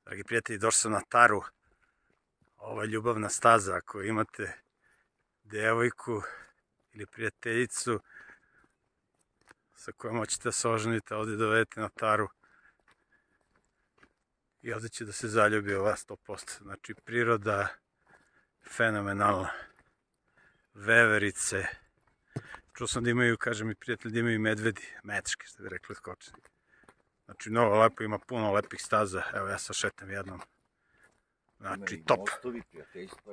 Dragi prijatelji, došao sam na Taru. Ovo je ljubavna staza. Ako imate devojku ili prijateljicu sa kojom hoćete da se oženite, ovdje dovedete na Taru i ovdje će da se zaljubi u vas 100%. Znači, priroda fenomenalna. Veverice. Čuo sam da imaju, kaže mi prijatelj, da imaju medvedi, mečke, što bi rekli skočni. Znači, mnogo lepo, ima puno lepih staza. Evo, ja sad šetam jednom. Znači, top.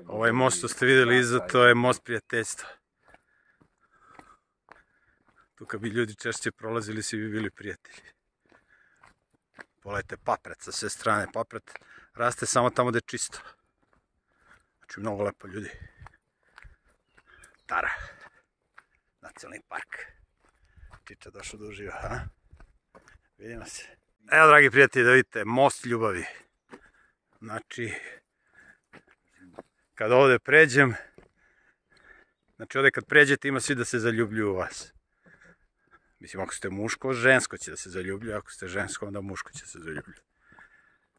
Ovaj most što ste vidjeli iza, to je most prijateljstva. Tu kad bi ljudi češće prolazili, svi bi bili prijatelji. Pogledajte papret sa sve strane. Papret raste samo tamo gdje je čisto. Znači, mnogo lepo ljudi. Tara. Nacionalni park. Čiča došao da uživa, ha? Vidimo se. Evo, dragi prijatelji, da vidite, most ljubavi. Znači, kad ovdje pređem, znači ovdje kad pređete ima svi da se zaljubljuju u vas. Mislim, ako ste muško, žensko će da se zaljubljuje, ako ste žensko, onda muško će se zaljubljuje.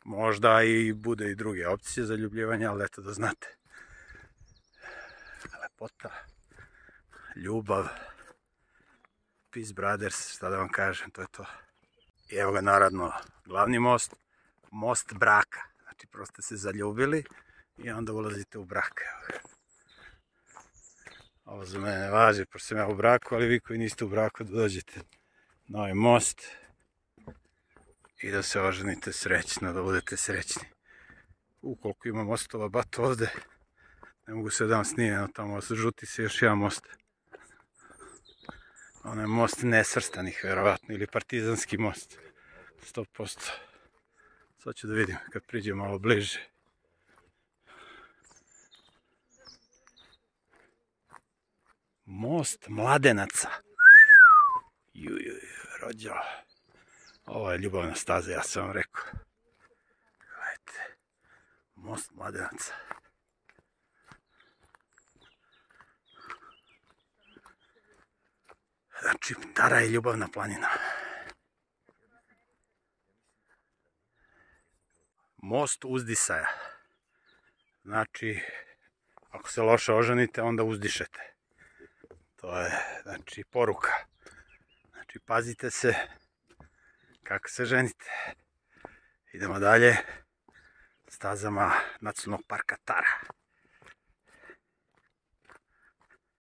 Možda i bude i druge opcije zaljubljivanja, ali eto da znate. Lepota, ljubav, peace brothers, šta da vam kažem, to je to. I evo ga naravno glavni most, most braka. Znači prosto se zaljubili i onda ulazite u brak. Ovo za mene ne važi, pošto sam ja u braku, ali vi koji niste u braku da dođete na ovaj most i da se oženite srećno, da budete srećni. Ukoliko ima mostova bat ovde, ne mogu se da vam snimam, tamo žuti se još jedan most. Ono je most nesvrstanih, verovatno, ili partizanski most. 100%. Sad ću da vidim kad priđem malo bliže. Most Mladenaca. Rođo. Ovo je ljubavna staza, ja sam vam rekao. Gledajte. Most Mladenaca. Znači, Tara je ljubavna planina. Most uzdisaja. Znači, ako se loše oženite, onda uzdišete. To je, znači, poruka. Znači, pazite se kako se ženite. Idemo dalje stazama Nacionalnog parka Tara.